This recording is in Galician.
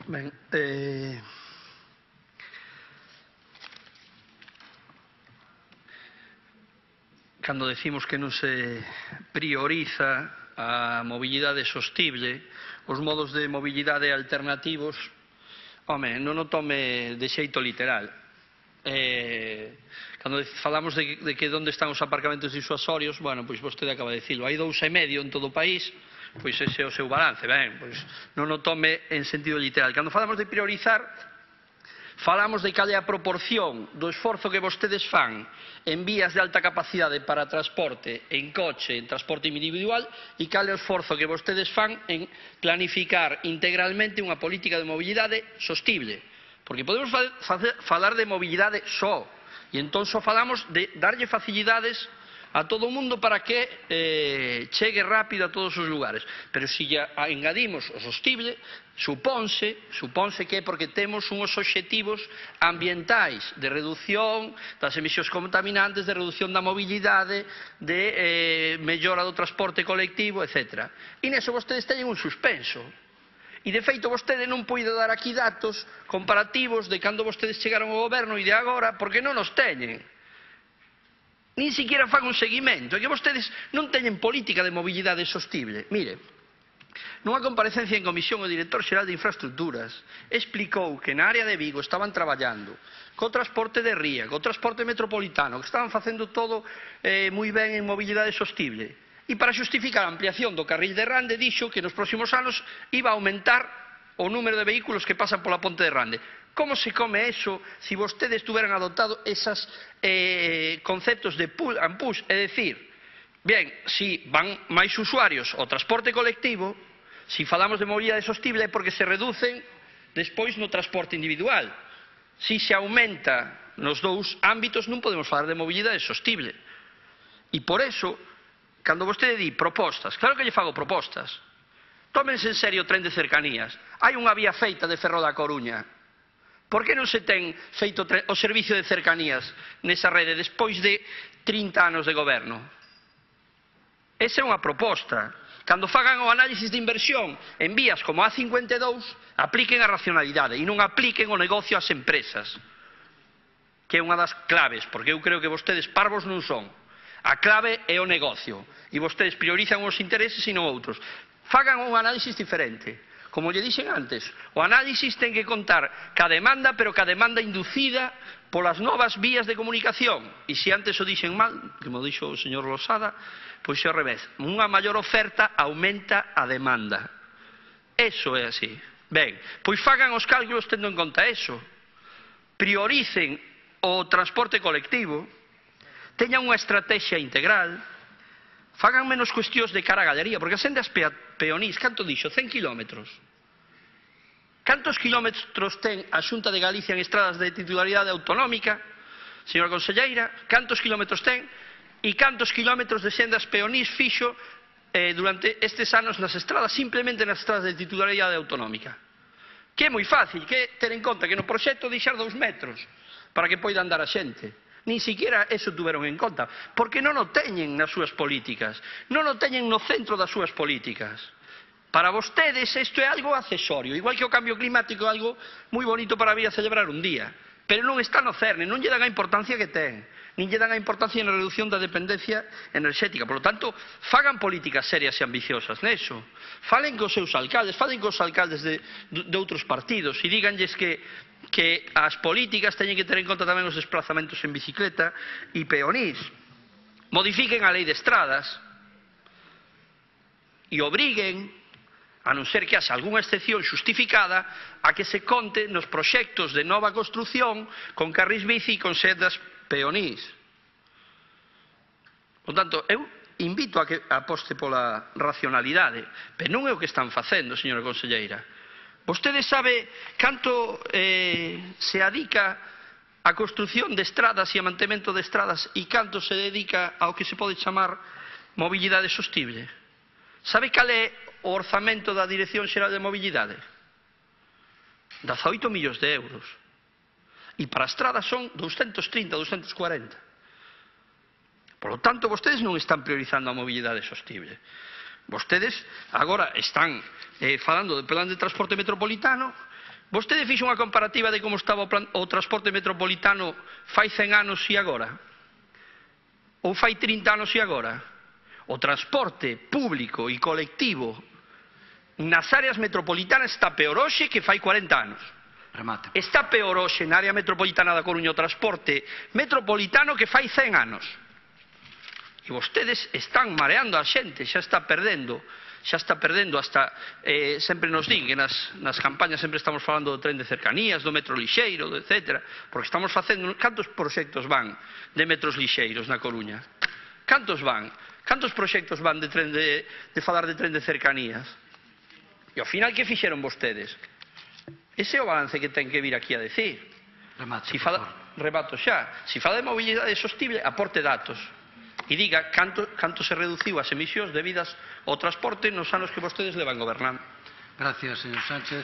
Ben, cando decimos que non se prioriza a mobilidade sostible, os modos de mobilidade alternativos, home, non o tome de xeito literal. Cando falamos de que onde están os aparcamentos disuasorios, bueno, pois vostede acaba de dicilo, hai 2,5 en todo o país, pois ese é o seu balance, ben, pois non o tome en sentido literal. Cando falamos de priorizar, falamos de cal é a proporción do esforzo que vostedes fan en vías de alta capacidade para transporte en coche, en transporte individual, e cal é o esforzo que vostedes fan en planificar integralmente unha política de mobilidade sostible. Porque podemos falar de mobilidade só, e entón só falamos de darlle facilidades a todo o mundo para que chegue rápido a todos os lugares. Pero se lle engadimos o sostible, supónse que é porque temos uns obxectivos ambientais de reducción das emisións contaminantes, de reducción da mobilidade, de mellora do transporte colectivo, etc. E neso vostedes teñen un suspenso. E, de feito, vostede non pode dar aquí datos comparativos de cando vostedes chegaron ao goberno e de agora, porque non os teñen. Nin siquiera fan un seguimento. É que vostedes non teñen política de mobilidade sostible. Mire, nunha comparecencia en comisión o director xeral de Infraestructuras explicou que na área de Vigo estaban traballando co transporte de ría, co transporte metropolitano, que estaban facendo todo moi ben en mobilidade sostible. E para xustificar a ampliación do carril de Rande dixo que nos próximos anos iba a aumentar o número de vehículos que pasan pola ponte de Rande. Como se come eso se vostedes tuveran adoptado esos conceptos de pull and push? É dicir, ben, si van máis usuarios ao transporte colectivo, si falamos de mobilidade sostible é porque se reducen despois no transporte individual. Si se aumenta nos dous ámbitos non podemos falar de mobilidade sostible. E por eso, cando vostede di propostas, claro que lle fago propostas. Tómense en serio o tren de cercanías. Hai unha vía feita de Ferrol a Coruña. Por que non se ten feito o servicio de cercanías nesa rede despois de 30 anos de goberno? Esa é unha proposta. Cando fagan o análisis de inversión en vías como a A52, apliquen a racionalidade e non apliquen o negocio ás empresas, que é unha das claves, porque eu creo que vostedes parvos non son. A clave é o negocio e vostedes priorizan os intereses e non outros. Fagan un análisis diferente. Como lle dixen antes, o análisis ten que contar ca demanda, pero ca demanda inducida polas novas vías de comunicación. E se antes o dixen mal, que mo dixo o señor Losada, pois é ao revés. Unha maior oferta aumenta a demanda. Eso é así. Ben, pois fagan os cálculos tendo en conta eso. Prioricen o transporte colectivo, teñan unha estrategia integral, fagan menos cuestións de cara a galería, porque as sendas peonís, canto dixo? 100 kilómetros. Cantos kilómetros ten a Xunta de Galicia en estradas de titularidade autonómica, señora conselleira? Cantos kilómetros ten? E cantos kilómetros de sendas peonís fixo durante estes anos nas estradas, simplemente nas estradas de titularidade autonómica? Que é moi fácil, que ter en conta que no proxecto deixar 2 metros para que poida andar a xente. Nin siquiera eso tuveron en conta, porque non o teñen nas súas políticas, non o teñen no centro das súas políticas. Para vostedes isto é algo accesorio, igual que o cambio climático é algo moi bonito para vir a celebrar un día, pero non está no cerne, non lle dan a importancia que ten, nin lle dan a importancia na reducción da dependencia enerxética. Por lo tanto, fagan políticas serias e ambiciosas neso, falen cos seus alcaldes, falen cos alcaldes de outros partidos e díganlles que as políticas teñen que ter en conta tamén os desplazamentos en bicicleta e peonís. Modifiquen a lei de estradas e obriguen, a non ser que haxa algunha excepción xustificada, a que se conte nos proxectos de nova construción con carrís bici e con sendas peonís. Por tanto, eu invito a que aposte pola racionalidade, pero non é o que están facendo, señora conselleira. Vostede sabe canto se adica a construción de estradas e a mantemento de estradas e canto se dedica ao que se pode chamar mobilidade sostible? Sabe cal é o orzamento da Dirección Xeral de Mobilidade? 18 millóns de euros. E para a estrada son 230, 240. Por lo tanto, vostedes non están priorizando a mobilidade sostible. Vostedes agora están falando do plan de transporte metropolitano Vostede fixo unha comparativa de como estaba o transporte metropolitano fai 100 anos e agora? Ou fai 30 anos e agora? O transporte público e colectivo nas áreas metropolitanas está peor hoxe que fai 40 anos. Remate. Está peor hoxe na área metropolitana da Coruña o transporte metropolitano que fai 100 anos. E vostedes están mareando a xente, xa está perdendo hasta, sempre nos din que nas campañas sempre estamos falando do tren de cercanías, do metro lixeiro, etc. Porque estamos facendo, cantos proxectos van de metros lixeiros na Coruña? Cantos van? Cantos proxectos van de falar de tren de cercanías? E ao final, que fixeron vostedes? Ese é o balance que ten que vir aquí a decir. Remate, Rebato xa. Se fala de mobilidade sostible, aporte datos. E diga canto se reduciu as emisións debidas ao transporte nos anos que vostedes levan gobernando. Gracias, señor Sánchez.